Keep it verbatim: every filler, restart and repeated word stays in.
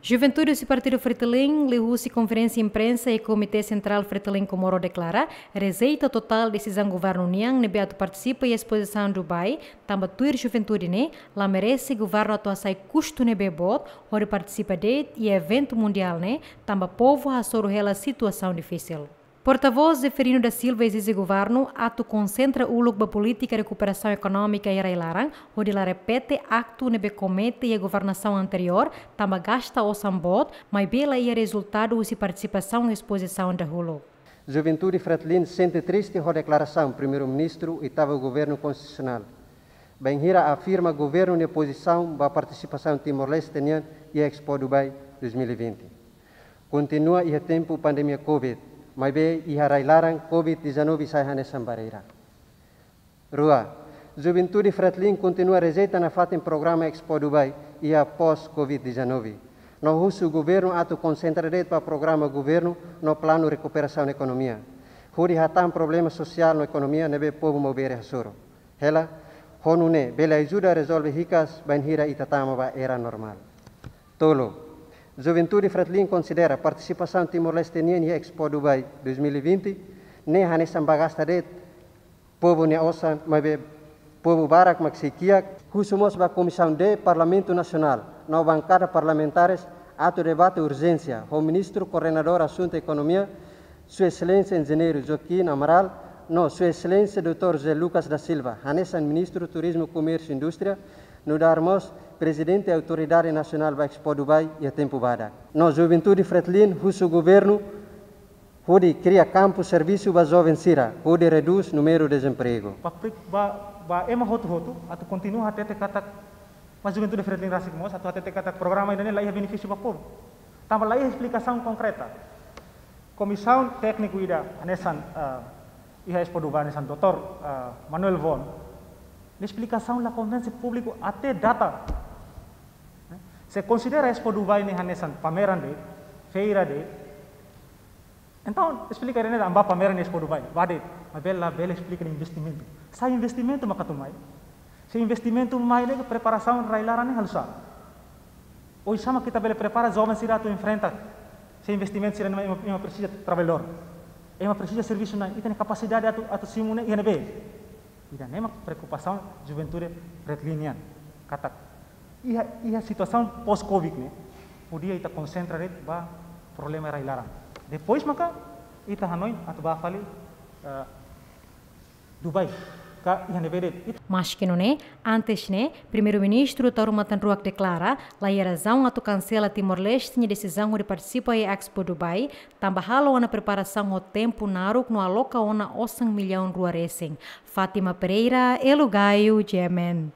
Juventude husi Partidu Fretilin, liuhusi konferénsia imprensa iha Komité Sentrál Fretilin Comoro deklara rejeita totál desizaun governu nian ne'ebé atu partisipa iha espozisaun Dubai, tanba tuir juventude ne'e la merese governu atu hasai kustu ne'ebé boot hodi partisipa de'it iha eventu mundiál ne'e, tanba povu hasoru hela situasaun difisil. Portavós Zeferino da Silva ezije governu atu konsentra uluk ba polítika rekuperasaun ekonómika iha rai-laran, hodi la repete aktu ne'ebé komete iha governasaun anteriór, tanba gasta osan boot, maibé la iha rezultadu husi partisipasaun espozisaun dahuluk. Juventude Fretilin sente triste ho deklarasaun Primeiru-Ministru Oitavu Governu Konstitusionál bainhira afirma governu nia pozisaun ba partisipasaun Timor-Leste nian iha Expo Dubai dois mil e vinte. Kontinua iha tempu pandemia Covid, maibé iha rai-laran Covid dezanove sai hanesan barreira. Rua, Juventude Fretilin kontinua rejeita nafatin programa Expo Dubai iha pós Covid dezanove. No husu governu atu konsentra de'it ba programa governu no planu rekuperasaun ekonomia, hodi hatán problema sosiál no ekonomia ne'ebé povu Maubere hasoru hela, ho nune'e bele ajuda rezolve hikas bainhira ita tama ba era normál. Tolu, Juventude Fretilin konsidera partisipasaun Timor-Leste nian iha Expo Dubai dois mil e vinte ne'e hanesan ba gasta de'it povu nia osan, maibé povu barak mak sei kiak. Husu mós ba Komisaun D Parlamentu Nasionál no bankada parlamentares atu debate urjénsia ho Ministru Koordenadór Asuntu Ekonomia, Sua Exelénsia Enjeñeiru Joaquim Amaral, no Sua Exelénsia doutór José Lucas da Silva, hanesan Ministru Turizmu, Komérsiu, Indústria, nu'udar mós Prezidente Autoridade Nasionál ba Expo Dubai iha tempu badak. No Juventude Fretilin husu governu hodi kria kampu servisu ba joven sira, hodi redús númeru dezempregu. Ba pri-, ba, ba ema hotu-hotu, atu kontinua hatete katak, ba Juventude Fretilin rasik mós, atu hatete katak programa ida-ne'e la iha benefísiu ba povu. Tanba la iha esplikasaun konkreta. Komisaun tékniku ida hanesan, eh, iha Expo Dubai hanesan doutór, eh, Manuel Von, nia esplikasaun la konvense públiku até data. Se konsidera Expo Dubai ne'e hanesan pameran de'it, feira de'it, entaun esplika ida-ne'e tanba pameran Expo Dubai, ba de'it, maibé la bele esplika nia investimentu. Sá investimentu mak atu mai? Se investimentu mai de'it, preparasaun rai-laran ne'e halo sá? Oinsá mak ita bele prepara joven sira atu enfrenta? Se investimentu sira-ne'e ema, ema presiza trabalhadór, ema presiza servisu-na'in, ita-nia kapasidade atu, atu simu ne'e iha ne'ebé? Ida-ne'e mak preokupasaun Juventude Fretilin nian. Katak iha, iha situasaun pós-Covid ne'e, podia ita konsentra de'it ba problema rai-laran. Depois maka ita hanoin atu ba fali, eh, Dubai ka iha ne'ebé de'it. Maski nune'e, antes ne'e, Primeiru-Ministru Taur Matan Ruak deklara la iha razaun atu kansela Timor-Leste nia desizaun hodi partisipa iha Expo Dubai, tanba halo ona preparasaun ho tempu naruk no aloka ona osan millaun rua resin. Fátima Pereira, Elo Gaio, G M N.